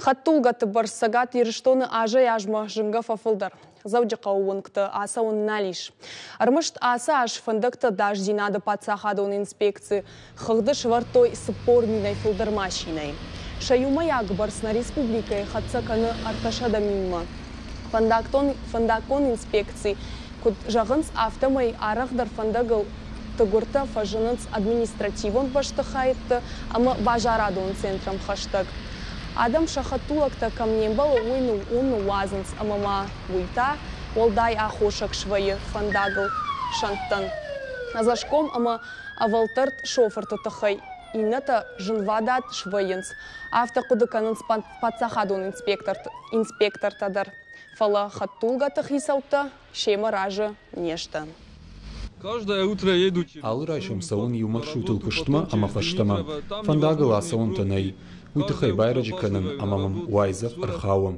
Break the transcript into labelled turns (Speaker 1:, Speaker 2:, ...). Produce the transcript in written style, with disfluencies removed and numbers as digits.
Speaker 1: Хӕдтулгӕты бӕрц Цӕгат Ирыстоны азӕй-азмӕ зынгӕ фӕфылдӕр. Дзӕуджыхъӕуы уынгты ацӕуын нал ис. Ӕрмӕст ацы аз фӕндӕгты ӕдасдзинады паддзахадон инспекци хыгъды сӕвӕрдтой 40 минӕй фылдӕр машинӕйы. Сӕ иумӕйаг бӕрц нӕ республикӕйы хӕццӕ кӕны 300 минмӕ. Фӕндаггон инспекци куыд зӕгъынц, афтӕмӕй арӕхдӕр фӕндагыл тыгуыртӕ фӕзынынц административон бӕстыхӕйтты ӕмӕ базарадон центрӕм хӕстӕг. Адӕм сӕ хӕдтулӕгтӕ кӕм не мбӕлы, уый уым ныууадзынц ӕмӕ ма уый та уӕлдай аххосаг свӕййы фӕндагыл сӕнттӕн. Ӕдзӕсгом ӕмӕ ӕвӕлтӕрд шофырты тыххӕй иннӕтӕ зынвадат свӕййынц. Афтӕ хъуыды кӕнынц паддзахадон инспектортӕ дӕр. Фӕлӕ хӕдтулгӕты хицӕуттӕ семӕ разы не сты.
Speaker 2: Алы райсом цӕуын иу маршрутыл куыстмӕ ӕмӕ фӕстӕмӕ. Фӕндагыл ацӕуӕнтӕ нӕй. Уый тыххӕй байрӕджы кӕнын ӕмӕ мӕм уайдзӕф ӕрхауы.